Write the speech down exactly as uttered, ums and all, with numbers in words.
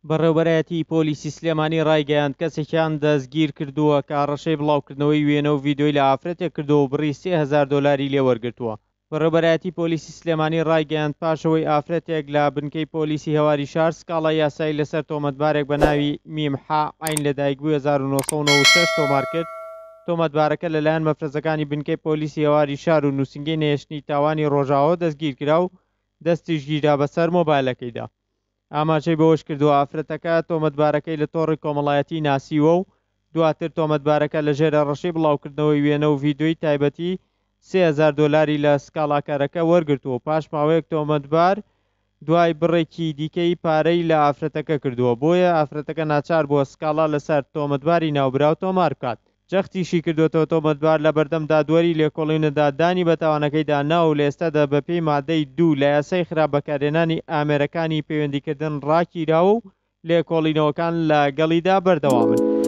بەڕێوەبەرایەتی پۆلیسی سلێمانی ڕایگەیاند، کەسێکیان دەستگیر کردووە کە هەڕەشەی بڵاوکردنەوەی وێنە و ڤیدیۆی لە ئافرەتێک کردووە و بڕی سێ هەزار دۆلاری لێ وەرگرتووە. بەڕێوەبەرایەتی پۆلیسی سلێمانی ڕایگەیاند، پاش ئەوەی ئافرەتێک لە بنکەی پۆلیسی هەواری شار سکاڵای یاسایی لەسەر تۆمەتبارێک بە ناوی میم حا عەین لەدایکبووی هەزار و نۆ سەد و نەوەد و شەش تۆمار کرد، تۆمەتبارەکە لەلایەن مەفرەزەکانی بنکەی پۆلیسی هەواری شار و نووسینگەی نەهێشتنی تاوانی ڕۆژاواوە دەستگیرکرا و دەستیش گیرا بەسەر مۆبایلەکەیدا. ئاماژەی بەوەشکردووە، ئافرەتەکە تۆمەتبارەکەی لە تۆڕی کۆمەڵایەتی ناسیوە و دواتر تۆمەتبارەکە لەژێر هەڕەشەی بڵاوکردنەوەی وێنە و ڤیدیۆی تایبەتی سێ هەزار دۆلاری لە سکاڵاکەرەکە وەرگرتووە و پاش ماوەیەک تۆمەتبار دوای بڕێکی دیکەی پارەی لە ئافرەتەکە کردووە، بۆیە ئافرەتەکە ناچار بووە سکاڵا لەسەر تۆمەتباری ناوبراو تۆمار بکات. جەختیشی کردووەتەوە، تۆمەتبار لە بەردەم دادوەری لێکۆڵینەدا دانی بە تاوانەکەیدا ناوە و لە ئێستادا بەپێی مادەی دوو لە یاسای خراپ بەکارهێنانی ئامێرەکانی پەیوەندیکردن ڕاگیراوە و لێکۆڵینەوەکان لەگەڵیدا بەردەوامن.